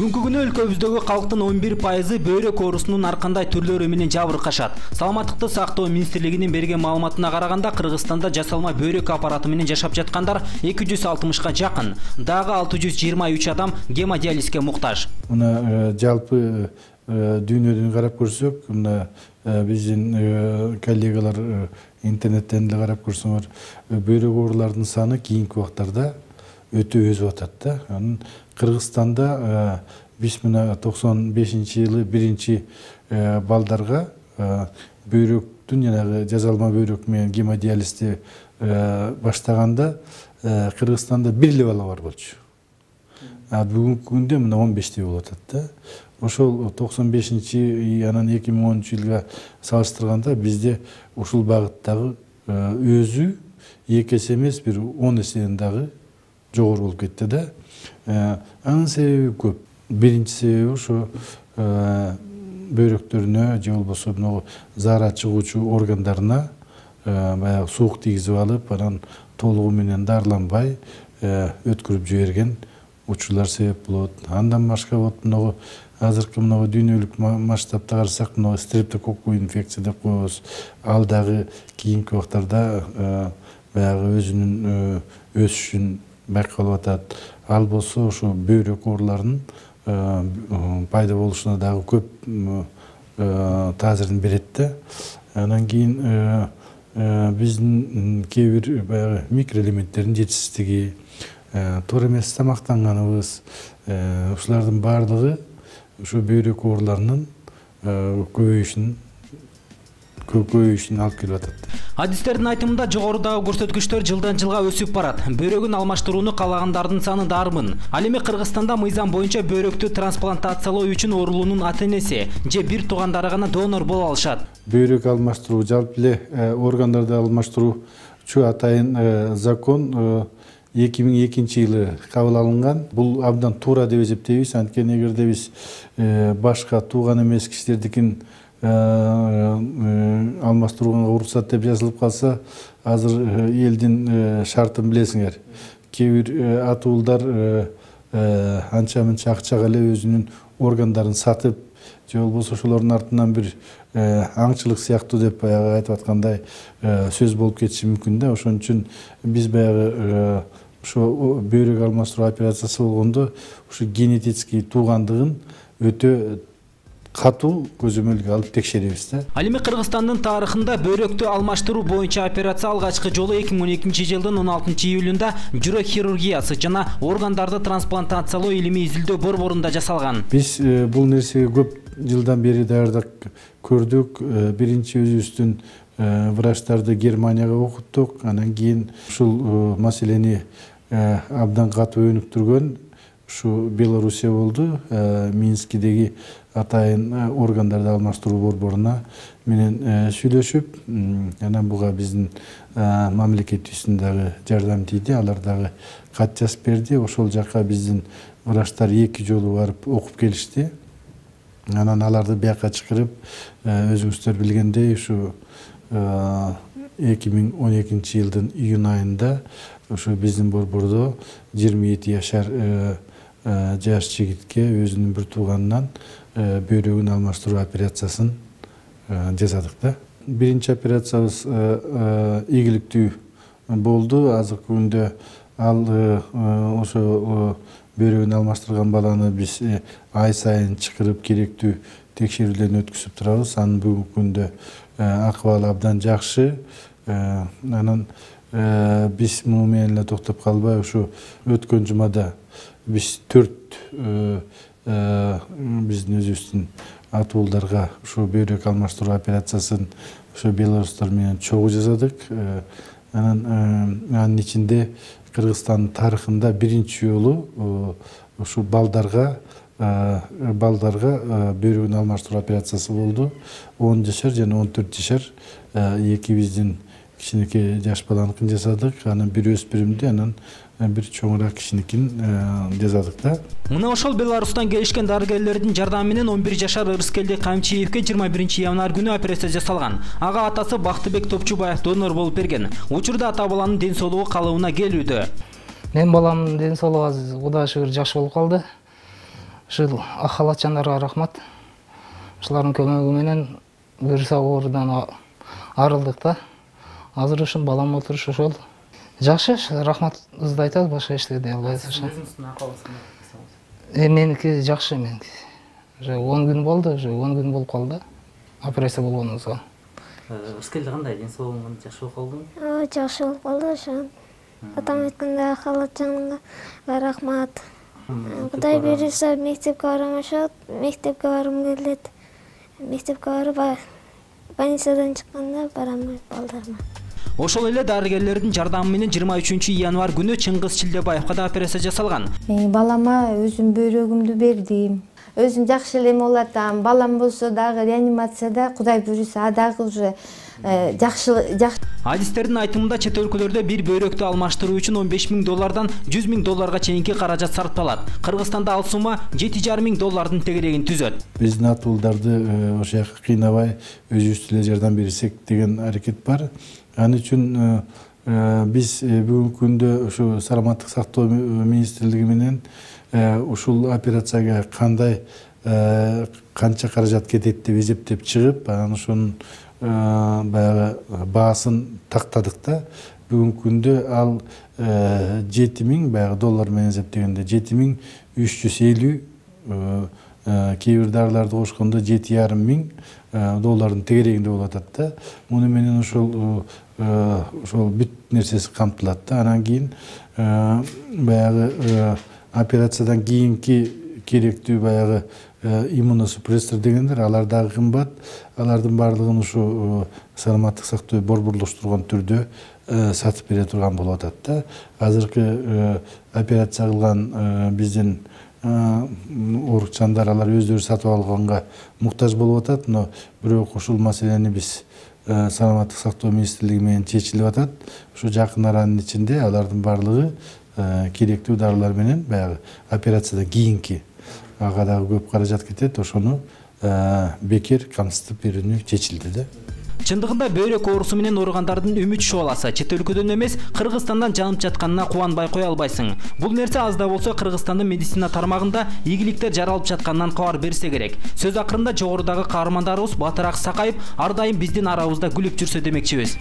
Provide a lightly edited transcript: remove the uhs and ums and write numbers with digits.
Бүгүнкү күнү өлкөбүздөгү калктын 11% бөйрөк оорусунун ар кандай түрлөрү менен жабыркашат. Саламаттыкты сактоо министрлигинин берген маалыматына караганда Кыргызстанда жасалма бөйрөк аппараты менен жашап жаткандар 260га жакын. Дагы 623 адам гемодиализге муктаж. Мына жалпы дүйнөдөн карап көрсөк, мына биздин коллегалар интернеттен деле карап көрсөңөр, бөйрөк оорулардын саны кийинки убактарда өтө өсүп атат да. Анын Кыргызстанда биз мына 95-жылы биринчи балдарга бөйрөктүн жанагы жазалма бөйрөк менен гемодиализди баштаганда Кыргызстанда бир эле бала бар болчу. Бүгүнкү күндө мына 15 болуп атат да. Ошол 95-чи анан 2010-жылга салыштырганда бизде ушул багыттагы өзү 2 эсе эмес, бир 10 эседен дагы жогору болуп кетти да. Анын себеби көп. Биринчи себеби ошо бөйрөктөрүнө же болбосо могу заара чыгуучу органдарына баягы суук тийгизип алып, анан толугу менен дарыланбай өткөрүп жиберген учурлар себеп болот. Андан башка вот могу азыркы могу дүйнөлүк масштабта карасак, могу стрептококку инфекция деп коебуз. Ал дагы кийинки убактарда баягы өзүнүн өсүшүн байкалып атат. Ал болсо ошо бөйрөк ооруларынын пайда болушуна дагы көп таасирин берет да. Анан кийин биздин кээ бир баягы микроэлементтердин жетишсиздиги, туура эмес тамактанганыбыз, ушулардын баардыгы ушу бөйрөк ооруларынын көбөйүшүнө алып келип атат. Адистердин айтымында жогорудагы көрсөткүчтөр жылдан жылга өсүп барат. Бөйрөгүн алмаштырууну каалагандардын саны дармын. Ал эми Кыргызстанда мыйзам боюнча бөйрөктү трансплантациялоо үчүн оорулуунун ата-энеси же бир туугандары гана донор боло алышат. Бөйрөк алмаштыруу, жалпы эле органдарды алмаштыруучу атайын закон 2002-жылы кабыл алынган. Бул абдан туура деп эсептейбиз. Анткени эгерде биз башка тууган эмес кишилердикин алмаштырууга уруксат деп жазылып калса, азыр элдин шартын билесиңер. Кээ бир атуулдар анча-мынча акчага эле өзүнүн органдарын сатып, же болбосо ошолордун артынан бир аңчылык сыяктуу деп баягы айтып аткандай сөз болуп кетиши мүмкүн да. Ошон үчүн биз баягы ошо бөйрөк алмаштыруу операциясы болгондо ушу генетический туугандыгын өтө катуу көзөмөлгө алып текшеребиз да. Ал эми Кыргызстандын тарыхында бөйрөктү алмаштыруу боюнча операция алгачкы жолу 2012-жылдын 16-июлунда жүрөк хирургиясы жана органдарды трансплантациялоо илимий изилдөө борборунда жасалган. Биз бул нерсеге көп жылдан бери даярдык көрдүк. Биринчи өзүбүздүн врачтарды Германияга окуттук. Анан кийин ушул маселени абдан катуу өнүктүргөн ушу Белоруссия болду. Минскидеги атайын органдарды алмаштыруу борборуна менен сүйлөшүп, анан буга биздин мамлекетибиздин дагы жардам тийди. Алар дагы кат жазып берди. Ошол жака биздин врачтар 2 жолу барып окуп келишти. Анан аларды бияка чакырып, өзүңүздөр билгендей, ушу 2012-жылдын июнь айында ушу биздин борбордо 27 жаш жигитке өзүнүн бир тууганынан бөйрөгүн алмаштыруу операциясын жасадык да. Биринчи операциябыз ийгиликтүү болду. Азыркы күндө ал ошо бөйрөгүн алмаштырган баланы биз ай сайын чакырып керектүү текшерүүлөрдөн өткүзүп турабыз. Анын бүгүнкү күндө акыбалы абдан жакшы. Анан биз муну менен эле токтоп калбай, ушу өткөн жумада биз 4 биздин өзүбүздүн атуулдарга ушу бөйрөк алмаштыруу операциясын ушу белорустар менен чогуу жасадык. Анын ичинде Кыргызстандын тарыхында биринчи жолу ушу балдарга бөйрөгүн алмаштыруу операциясы болду. 10 жашар жана 14 жашар эки биздин кичинекей жаш баланыкын жасадык. Анан бир өспүрүмдү, анан бир чоңураак кишиникин жасадык да. Мына ошол Беларустан келишкен дарыгерлердин жардамы менен 11 жашар Ырыскелди Камчиевке 21-январь күнү операция жасалган. Ага атасы Бактыбек Топчубаев донор болуп берген. Учурда ата баланын ден соолугу калыбына келүүдө. Мен баламдын ден соолугу азыр Кудайга шүгүр жакшы болуп калды. Ушул ак халатчандарга рахмат. Ушулардын көмөгү менен вирус оорудан арылдык да. Азыр ушул балам отуруш ошол. Жакшы, рахматыбызды айтабыз, башка эч дей албайбыз. Өзүңүздүн акыбыңызды Меники жакшы, меники. Уже 10 күн болду, уже 10 күн болуп калды. Операция болгонубузга. Ускелди кандай, ден соолугуң жакшы болуп калдыбы? Жакшы болуп калды ошо. Атам айткандай халатчанга рахмат. Кудай буйруса мектепке барамашат, мектепке баргым келет. Мектепке барып больницадан чыкканда барам балдарыма. Ошол эле дарыгерлердин жардамы менен 23 январь күнү Чыңгыз Чилдебаевга да операция жасалган. Балама өзүм бөйрөгүмдү бердим. Өзүм жакшы эле эмне болот атам. Балам болсо дагы реанимацияда, Кудай буйруса, дагы уже жакшы. Адистердин айтымында чет өлкөлөрдө бир бөйрөктү алмаштыруу үчүн $15,000 $100,000 чейинки каражат сарпталат. Кыргызстанда ал сума $7,500 тегерегин түзөт. Биздин атуулдарды ошол жака кыйнабай өзүбүз эле жардам берсек деген аракет бар. Аны үчүн биз бүгүнкү күндө ушу саламаттык сактоо министрлиги менен ушул операцияга кандай канча каражат кетет деп эсептеп чыгып, анан ошонун баягы баасын тактадык да. Бүгүнкү күндө ал $7,000 баягы доллар менен эсептегенде $7,350, кээ бир дарыларды кошкондо $7,500 тегерегинде болуп атат да. Муну менен ошол бүт нерсеси камтылат да. Анан кийин баягы операциядан кийинки керектүү баягы иммуносупрессор дегендер, алар дагы кымбат. Алардын баардыгын ушу саламаттык сактоо борборлоштурган түрдө сатып бере турган болуп атат да. Азыркы операция кылган биздин оорукчандар алар өздөрү сатып алганга муктаж болуп атат, но бирок ушул маселени биз саламаттык сактоо министрлиги менен чечилип атат. Ушу жакын аранын ичинде алардын баардыгы керектүү дарылар менен баягы операциядан кийинки ага дагы көп каражат кетет, ошону бекер камсытып берүүнү чечилди да. Чындыгында бөйрөк оорусу менен ооругандардын үмүт шооласы чет өлкөдөн эмес, Кыргызстандан жанып жатканына кубанбай кое албайсың. Бул нерсе аз да болсо Кыргызстандын медицина тармагында ийгиликтер жаралып жатканынан кабар берсе керек. Сөз акырында жогорудагы каармандарыбыз Батыраак Сакаев ар дайым биздин арабызда күлүп жүрсө демекчибиз.